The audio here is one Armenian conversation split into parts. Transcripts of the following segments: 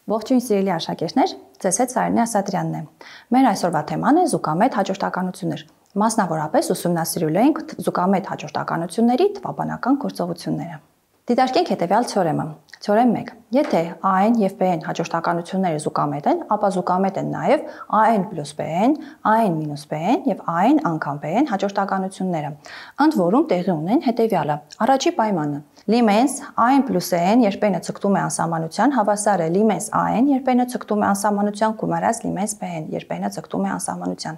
Ողջույն սիրելի աշակերտներ, ձեզ հետ Սարինե Ասատրյանն է։ Մեր այսօրվա թեման է զուգամետ հաջորդականություններ։ Մասնավորապես ուսումնասիրելու ենք զուգամետ հաջորդականությունների թվաբանական գործողությունները։ Դիտարկենք հետևյալ թեորեմը։ Թեորեմ 1. Եթե a-n եւ b-n հաջորդականությունները զուգամետ են, ապա զուգամետ են նաեւ a-n + b-n, a-n - b-n եւ a-n անգամ b-n հաջորդականությունները։ Ընդ որում տեղի ունեն հետևյալը. Առաջի պայմանը. Լիմենս a-n + n երբեմն ցկտում է անսահմանության, հավասար է լիմենս a-n երբեմն ցկտում է անսահմանության գումարած լիմենս b-n երբեմն ցկտում է անսահմանության։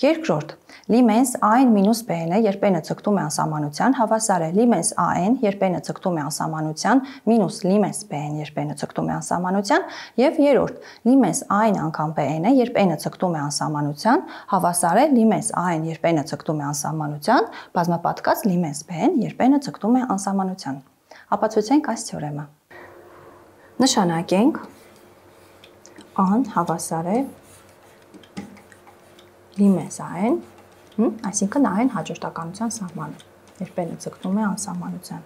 Երկրորդ. Լիմենս a-n - b-n-ը երբեմն ցկտում է անսահմանության, հավասար է լիմենս a-n երբեմն ցկտում է անսահմանության մինուս լիմենս b-n երբեմն ցկտում է անսահմանության եւ երրորդ. լիմենս a-n անգամ b-n-ը երբեմն ցկտում է անսահմանության, հավասար է լիմենս a-n երբեմն ցկտում է անսահմանության, բազմապատկած լիմենս b-n երբեմն ցկտում է անսահմանության։ Ապացուցենք այս թեորեմը։ Նշանակենք a-ն հավասար է լիմենս a-n, այսինքն a-ն հաջորդականության սահմանը, երբեմն ցկտում է անսահմանության։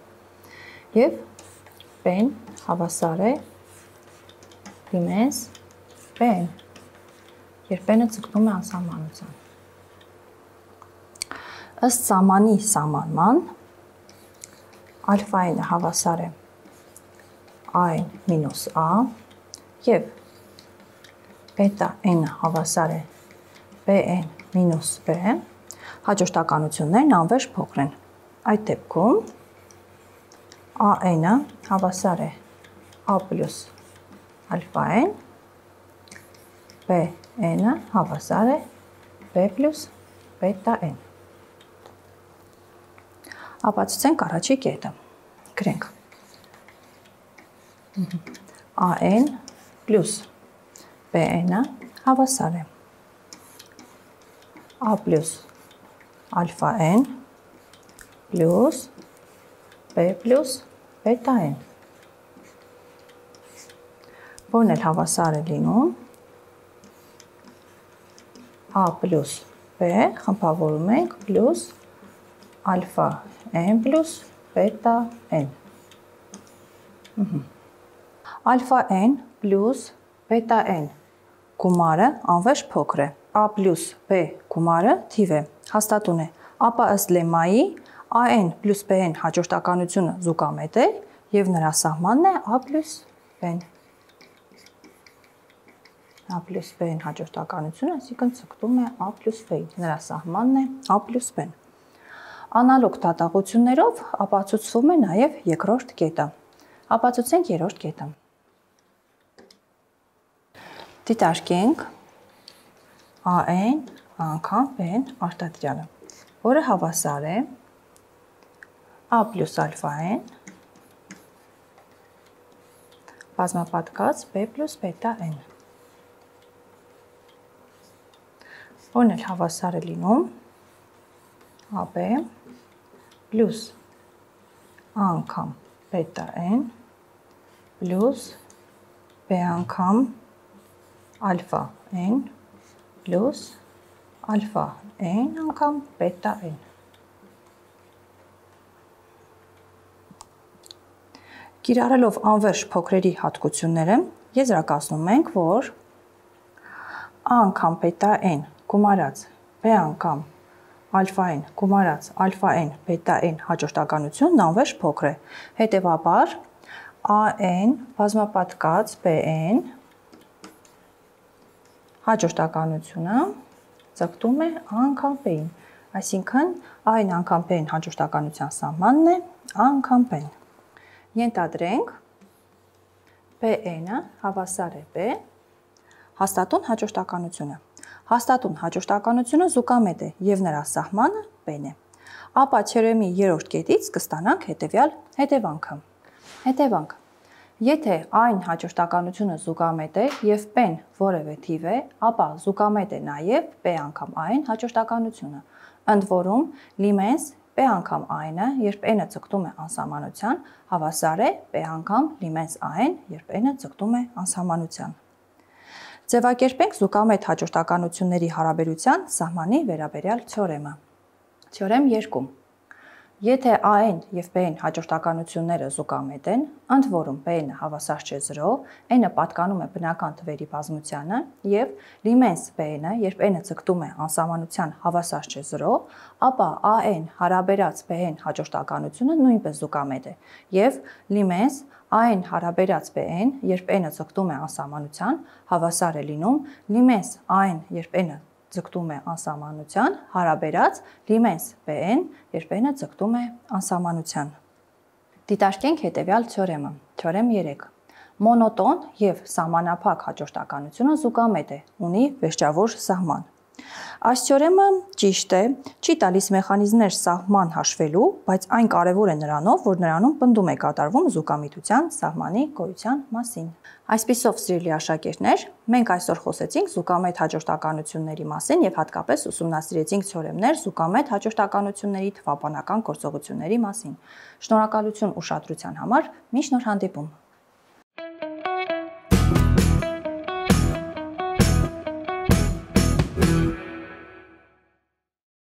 Եվ b-ն հավասար է լիմենս b-n, երբեմն ցկտում է անսահմանության։ Ըստ սահմանի սահմանման ալֆա-n-ը հավասար է a-n - a եւ բետա-n-ը հավասար է b-n - b, հաջորդականություններն անվերջ փոքր են։ Այդ դեպքում a-n-ը հավասար է a + ալֆա-n, b-n-ը հավասար է b + բետա-n։ Ապացուցենք առաջի կետը։ Գրենք a-n + b-n-ը հավասար է a + ալֆա-n + b + բետա-n, որն էլ հավասար է լինում a + b խմբավորում ենք + ալֆա-n + բետա-n։ Ալֆա-n + բետա-n գումարը անվերջ փոքր է, a + b գումարը թիվ է, հաստատուն է, ապա ըստ լեմմայի a-n + b-n հաջորդականությունը զուգամետ է եւ նրա սահմանն է a + b-n։ a + b-n հաջորդականությունը, այսինքն ցկտում է a + b-ին, նրա սահմանն է a + b-n։ Անալոգ դատողություններով ապացուցվում է նաև երկրորդ կետը։ Ապացուցենք երրորդ կետը։ Դիտարկենք a-n անգամ b-n արտադրյալը, որը հավասար է a + ալֆա-n բազմապատկած b + բետա-n, որն էլ հավասար է լինում ab + անգամ բետա-n + b անգամ ալֆա-n + ալֆա-n անգամ բետա-n։ Կիրառելով անվերջ փոքրերի հատկությունները, եզրակացնում ենք, որ a անգամ բետա-n գումարած b անգամ ալֆա-n գումարած ալֆա-n բետա-n հաջորդականությունն անվերջ փոքր է։ Հետևաբար a-n բազմապատկած b-n հաջորդականությունը ցկտում է a անգամ b-ին, այսինքն a-n անգամ b-n հաջորդականության սահմանն է a անգամ b-ն։ Ենթադրենք b-ը հավասար է b, հաստատուն հաջորդականությունը։ Հաստատուն հաջորդականությունը զուգամետ է եւ նրա սահմանը b-ն է։ Ապա թեորեմի երրորդ կետից կստանանք հետեւյալ հետևանքը։ Հետևանք. Եթե a-ն հաջորդականությունը զուգամետ է եւ b-ն որևէ թիվ է, ապա զուգամետ է նաեւ b անգամ a-ն հաջորդականությունը։ Ընդ որում լիմենս b անգամ a-ը երբ n-ը ցկտում է անսահմանության, հավասար է b անգամ լիմենս a-ն երբ n-ը ցկտում է անսահմանության։ Ձևակերպենք զուգամետ հաջորդականությունների հարաբերության սահմանի վերաբերյալ թեորեմը։ Թեորեմ 2. Եթե A-ն եւ B-ն հաջորդականությունները զուգամետ են, ընդ որում B-ը հավասար չէ 0, n-ը պատկանում է բնական թվերի բազմությանը եւ լիմենս B-ը, երբ n-ը ձգտում է անսահմանության հավասար չէ 0, ապա A-n հարաբերած B-ն հաջորդականությունը նույնպես զուգամետ է եւ լիմենս A-n հարաբերած B-ն, երբ n-ը ձգտում է անսահմանության, հավասար է լինում լիմենս A-n, երբ n-ը ձգտում է անսահմանության, հարաբերած լիմենս B-ն, երբ n-ը ձգտում է անսահմանության։ Դիտարկենք հետևյալ թեորեմը։ Թեորեմ 3։ Մոնոտոն եւ սահմանափակ հաջորդականությունը զուգամետ է, ունի վերջավոր սահման։ Այս թեորեմը ճիշտ է, չի տալիս մեխանիզմներ սահման հաշվելու, բայց այն կարևոր է նրանով, որ նրանում պնդում է կատարվում զուգամիտության սահմանի գոյության մասին։ Այսպիսով, սիրելի աշակերտներ, մենք այսօր խոսեցինք զուգամետ հաջորդականությունների մասին եւ հատկապես ուսումնասիրեցինք թեորեմներ զուգամետ հաջորդականությունների թվաբանական գործողությունների մասին։ Շնորհակալություն ուշադրության համար, մինչ նոր հանդիպում։